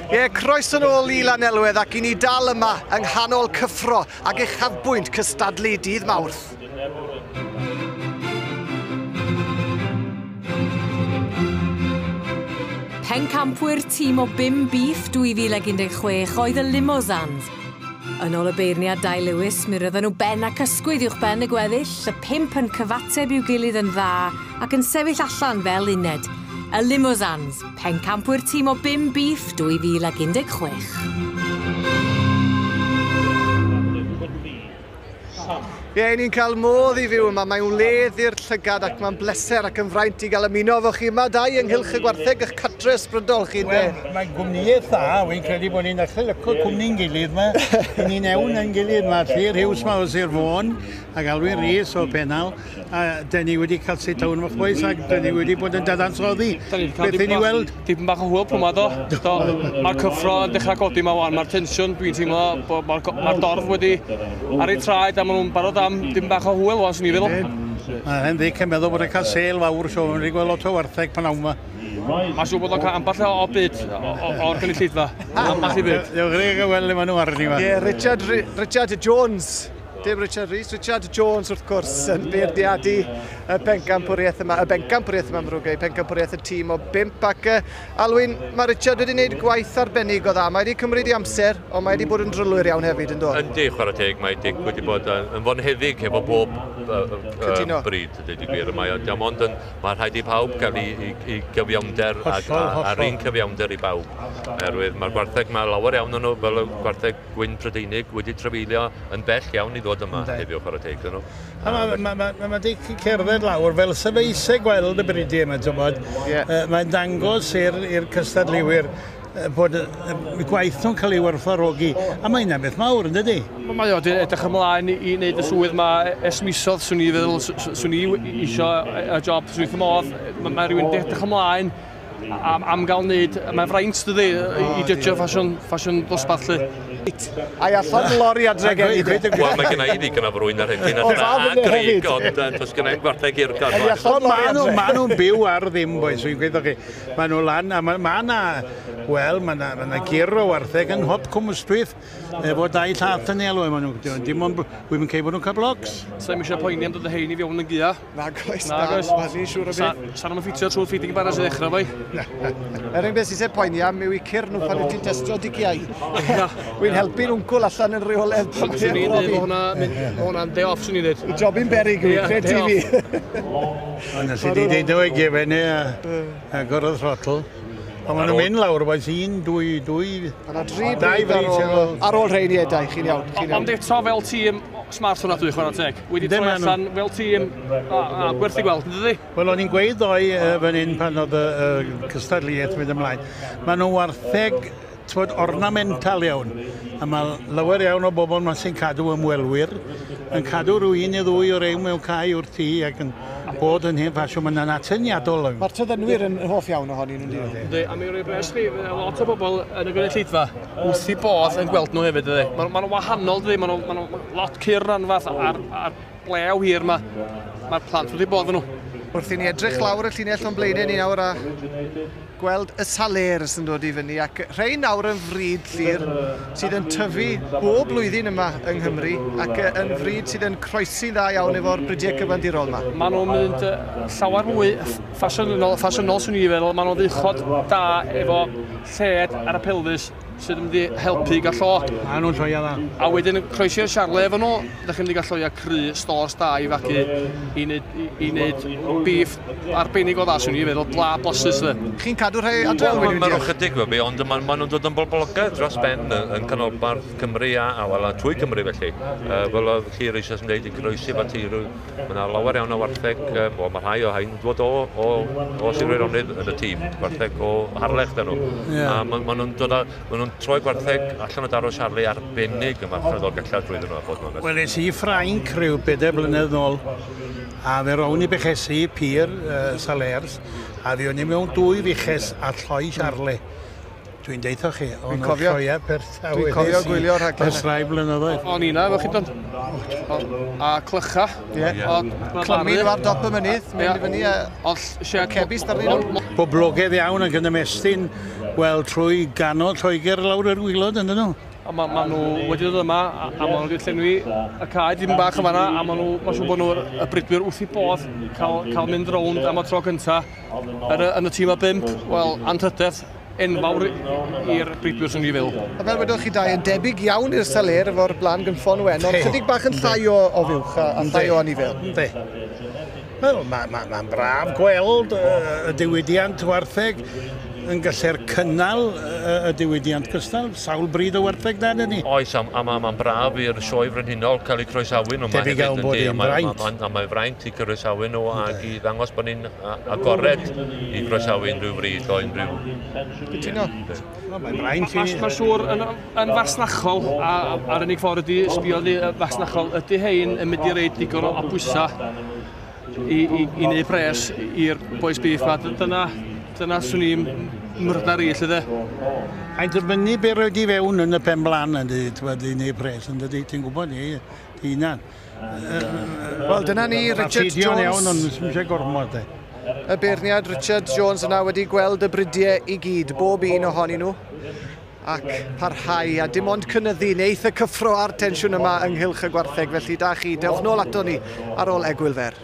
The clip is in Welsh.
Ie, croeso nôl i Lanelwedd ac i ni dal yma yng nghanol cyffro ac uchafbwynt cystadlu dydd Mawrth. Pencampwyr tîm o bum bîff 2016 oedd y Limosans. Yn ôl y beirniad Dai Lewis, mi roedden nhw ben ac ysgwydd uwch ben y gweddill, y pump yn cyfateb i'w gilydd yn dda ac yn sefyll allan fel uned. Y Limosans, pencampwyr tîm o bum bîff 2016. Ie, ni'n cael modd i fyw yma. Mae'n wledd i'r llygad ac mae'n bleser ac yn fraint i gael ymuno efo chi yma, Dai, ynghylch y gwartheg, eich cartre ysbrydol chi, ynde? Wel, mae'n gwmnïaeth dda, wy'n credu bod ni'n dechrau lyco cwmni'n gilydd yma. Ni'n ewn yn gilydd, mae Llyr Hughes ma o Sir Fôn ac Alwyn Rees o Pennal, a dyn ni wedi cael sit down efo'ch boys ac dyn ni wedi bod yn dadansoddi beth i ni weld. Dipyn bach o hwyl pwy 'ma do. Do. Mae'r cyffro yn dechrau godi 'ma wan, mae'r tensiwn dwi'n teimlo bod mae'r ma dorf wedi ar eu traed a maen nhw'n barod am dipyn bach o hwyl wan, swn i'n feddwl. Mae hen ddic yn meddwl bod e'n cael sêl fawr, so mae'n wedi gweld lot o wartheg pan awn 'ma. Mae'n siŵr bod o'n cael ambell o byd o'r gynulleidfa. Ambell i byd. Dewch chi gael weld le maen nhw arni 'ma. Ie, Richard, Richard Jones. Dim Richard Rees, Richard Jones wrth gwrs yn beirniadu y bencampwriaeth yma, y bencampwriaeth yma mrwgau, pencampwriaeth y tîm o bump ac Alwyn, mae Richard wedi gwneud gwaith arbennig o dda, mae wedi cymryd i amser, ond mae wedi bod yn drylwyr iawn hefyd yn do? Yndi, chwarae teg, mae Dick wedi bod yn fonheddig efo bob bryd, dweud y gwir. Mae o dim ond yn, mae rhaid i pawb gael i gyfiawnder a'r un cyfiawnder i bawb. Oherwydd mae'r gwartheg, mae lawer iawn o'n nhw fel y gwartheg gwyn Prydeinig wedi trafeilio yn bell iawn i ddod yma heddiw, chwarae teg iddyn nhw. A mae ma, ma, ma, ma Dic yn cerdded lawr fel sa fe eisiau gweld y bridiau yma, ti'n bod. Yeah. Mae'n dangos i'r cystadleuwyr bod y gwaith nhw'n cael ei werthfawrogi. A mae hynna'n beth mawr, yn dydi? Mae o wedi edrych ymlaen i wneud y swydd yma ers misoedd, swn i feddwl, swn i eisiau y job, swn i wrth y modd. Mae rhywun wedi edrych ymlaen am gael wneud, mae'n fraint dydi, i judgio ffasiwn dosbarth lly. Ai allan lori adre gen i de. Wel, mae gen i ddigon o frwyn ar hyn, a grig, ond does gen i'm gwartheg hirgorn. Maen nhw'n byw ar ddim, boys, wy'n gweud chi. Maen nhw lan, a mae yna, wel, mae yna gyr o wartheg yn nhop Cwm Ystwyth, efo dau llath yn ei alw, maen nhw, dim ond, wy'n cael bod nhw'n cael blocs. Sa'n eisiau poeni am dod y hein i fewn yn gia. Nag oes, na, ni'n siŵr o beth. Sa'n nhw'n ffitio trwy'r feeding barrels i ddechrau fwy. Yr unig beth sy'n eisiau poeni am yw i cur nhw pan wyt ti'n testio digiau. Wy'n helpu'n wncwl allan yn rheolaidd. Swn i'n dweud bod hwnna'n day off, swn i'n dweud. Y jobyn berig yw i, cred ti fi. Ond nes i di deud o i gefen i a gorfod throttle. Ond maen nhw'n mynd lawr, boys, un, dwy, dwy... Mae yna dri bryd ar ôl rheini edau, chi'n iawn. Ond eto fel tîm smart hwnna dwi, chwarae teg. Wedi troi allan fel tîm, a gwerth i gweld, yn dydi? Wel, o'n i'n gweud ddoe fan hyn pan oedd y cystadleuaeth mynd ymlaen. Maen nhw wartheg, t'mod, ornamental iawn. A mae lawer iawn o bobl yma sy'n cadw ymwelwyr, yn cadw rhyw un neu ddwy o rew mewn cae wrth tŷ ac yn bod yn hen ffasiwn. Mae'n atyniadol. Mae'r tyddynwyr yn hoff iawn ohonyn nhw'n dydyn? Yndi, a mi roi bres chi, lot o bobl yn y gynulleidfa wrth i bodd yn gweld nhw hefyd, dydy. Maen nhw'n wahanol, dydy, maen nhw'n lot cur anfath a'r blew hir yma. Mae'r plant wrth i bodd yn nhw. Wrth i ni edrych lawr y llinell o'n blaenau ni nawr a gweld y Salers yn dod i fyny, ac rhai nawr yn fryd Llyr sydd yn tyfu bob blwyddyn yma yng Nghymru ac yn fryd sydd yn croesi'n dda iawn efo'r brydiau cyfandirol yma. Maen nhw'n mynd llawer mwy ffasiynol, swn i'n feddwl. Maen nhw'n ddichod da efo lled ar y pelfis sydd yn mynd i helpu i gael llo. Maen nhw'n lloia dda. A wedyn croesi'r Charlie efo nhw, ydych chi'n mynd i gael lloia cry, stores da i fagu i wneud beef arbennig o dda, swn i'n feddwl, bla blasus dde. Chi'n cadw rhai adre, Alwyn? Mae'n ychydig fe, ond maen nhw'n dod yn boblogaidd dros ben yn canolbarth Cymru a trwy Cymru felly. Fel oedd Llyr eisoes yn dweud, i croesi fo teirw, mae yna lawer iawn o wartheg, mae rhai o hain dod o Sir Feirionnydd yn y tîm, gwartheg o Harlech dyn nhw. A maen nhw'n dod â, maen nhw'n troi gwartheg allan o daro Charlie arbennig yma allan o Ddolgellau drwyddyn nhw a bod yn onest. Wel, es i Ffrainc rhyw 4 blynedd nôl, a fe rown i bechesu pur Salers, a fi o'n i mewn 2 fuches a lloi Charlie. Dwi'n deitho chi, o'n Dwi'n cofio. sioeau Perth. Dwi'n cofio gwylio'r rhaglen. Ers rai blynyddoedd. O'n i na, efo chi don. A clycha. Ie. Clymu nhw ar dop y mynydd, mynd i fyny a Ond shed cebis darnyn nhw. Boblogaidd iawn ac yn ymestyn, wel, trwy ganol Lloegr lawr yr waelod, yndyn nhw? A ma, ma nhw wedi dod yma, a ma nhw wedi llenwi y cae dim bach yn fanna, a ma nhw, mae'n siŵr bod nhw'r y bridwyr wrth i bodd cael mynd rownd am y tro cynta yn y tîm o 5, wel, anrhydedd enfawr i'r bridwyr swn i fel. A fel wedwch chi dau, yn debyg iawn i'r Salers efo'r blaen gynffon wen, ond chydig bach yn llai o fuwch a llai o anifel. Yndi. Wel, mae'n ma braf gweld y diwydiant wartheg yn gallu'r cynnal y diwydiant cystal, sawl bryd o wartheg da ni. Oes, a mae'n braf i'r sioe frenhinol cael ei croesawu nhw. Debyg iawn bod hi'n fraint. A mae'n fraint i croesawu nhw ac i ddangos bod ni'n agored i croesawu unrhyw fryd o unrhyw. Cytuno. Mae'n fraint i. Mae'n siŵr yn fasnachol, a'r unig ffordd ydy sbio fasnachol, ydy hein yn mynd i reid digon o bwysau i wneud pres i'r boys beef ma. Dyna swn i'n myrddar i, lle de. A'n dibynnu be roed i fewn yn y pen blaen yn dweud, i wneud pres, yn dydy, ti'n gwybod ni, ti hunan. Wel, dyna ni, Richard Jones. Iawn, ond ddim eisiau gormod, de. Y beirniad Richard Jones yna wedi gweld y bridiau i gyd, bob un ohonyn nhw, ac parhau, a dim ond cynyddu neith y cyffro a'r tensiwn yma ynghylch y gwartheg. Felly da chi, dewch nôl ato ni ar ôl egwyl fer.